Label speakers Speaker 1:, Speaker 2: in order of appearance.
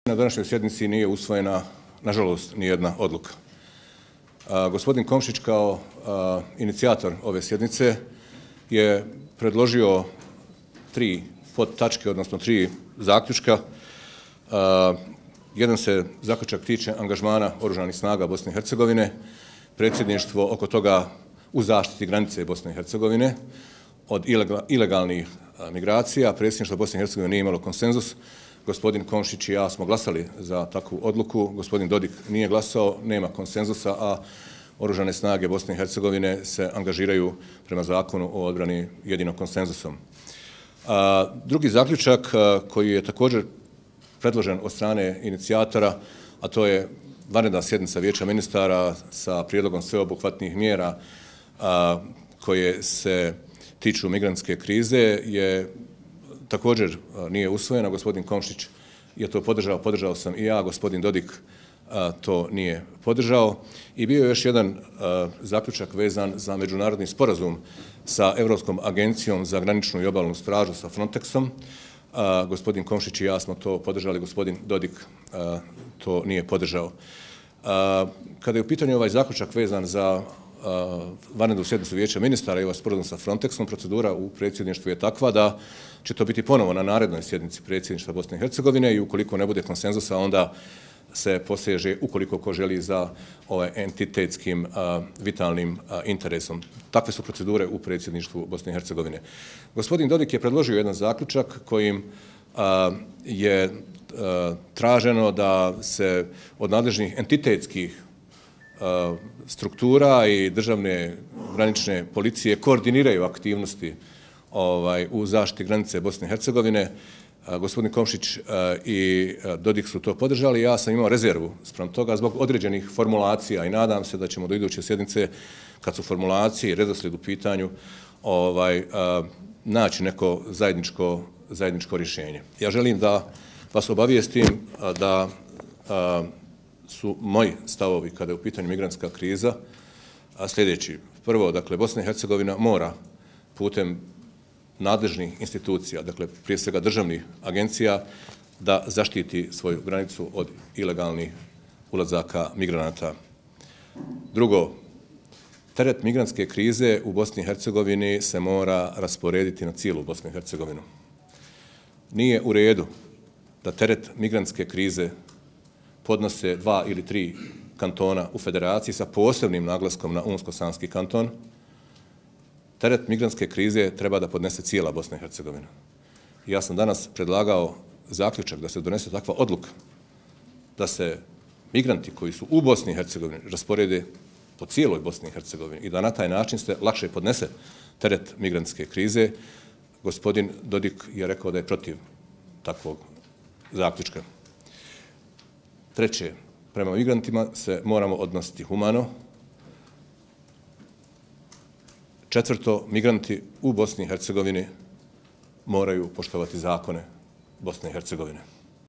Speaker 1: Na današnjoj sjednici nije usvojena, nažalost, nijedna odluka. Gospodin Komšić kao inicijator ove sjednice je predložio 3 podtačke, odnosno 3 zaključka. Jedan se zaključak tiče angažmana oružanih snaga Bosne i Hercegovine, predsjedništvo oko toga u zaštiti granice Bosne i Hercegovine od ilegalnih migracija. Predsjedništvo Bosne i Hercegovine nije imalo konsenzus. Gospodin Komšić i ja smo glasali za takvu odluku. Gospodin Dodik nije glasao, nema konsenzusa, a oružane snage Bosne i Hercegovine se angažiraju prema zakonu o odbrani jedino konsenzusom. Drugi zaključak koji je također predložen od strane inicijatora, a to je vanredna sjednica Vijeća ministara sa prijedlogom sveobuhvatnih mjera koje se tiču migrantske krize, je također nije usvojena. Gospodin Komšić je to podržao sam i ja, gospodin Dodik to nije podržao. I bio je još jedan zaključak vezan za međunarodni sporazum sa Evropskom agencijom za graničnu i obalnu stražu, sa Frontexom. Gospodin Komšić i ja smo to podržali, gospodin Dodik to nije podržao. Kada je u pitanju ovaj zaključak vezan za vanrednu sjednicu Vijeća ministara i ovaj sporazum sa Frontexom, procedura u predsjedništvu je takva da će to biti ponovo na narednoj sjednici predsjedništva Bosne i Hercegovine i ukoliko ne bude konsenzusa, onda se poseže, ukoliko ko želi, za ovaj entitetskim vitalnim interesom. Takve su procedure u predsjedništvu Bosne i Hercegovine. Gospodin Dodik je predložio jedan zaključak kojim je traženo da se od nadležnih entitetskih struktura i državne granične policije koordiniraju aktivnosti u zaštiti granice Bosne i Hercegovine. Gospodin Komšić i Dodik su to podržali. Ja sam imao rezervu spram toga zbog određenih formulacija i nadam se da ćemo do iduće sjednice, kad su formulacije i redoslijed u pitanju, naći neko zajedničko rješenje. Ja želim da vas obavijestim da su moji stavovi kada je u pitanju migrantska kriza sljedeći. Prvo, dakle, Bosna i Hercegovina mora putem nadležnih institucija, dakle, prije svega državnih agencija, da zaštiti svoju granicu od ilegalnih ulazaka migranata. Drugo, teret migrantske krize u Bosni i Hercegovini se mora rasporediti na cijelu Bosnu i Hercegovinu. Nije u redu da teret migrantske krize podnose 2 ili 3 kantona u federaciji sa posebnim naglaskom na Unsko-Sanski kanton. Teret migrantske krize treba da podnese cijela Bosna i Hercegovina. Ja sam danas predlagao zaključak da se donese takva odluka da se migranti koji su u Bosni i Hercegovini rasporede po cijeloj Bosni i Hercegovini i da na taj način se lakše podnese teret migrantske krize. Gospodin Dodik je rekao da je protiv takvog zaključka. Treće, prema migrantima se moramo odnositi humano. Četvrto, migranti u Bosni i Hercegovini moraju poštovati zakone Bosne i Hercegovine.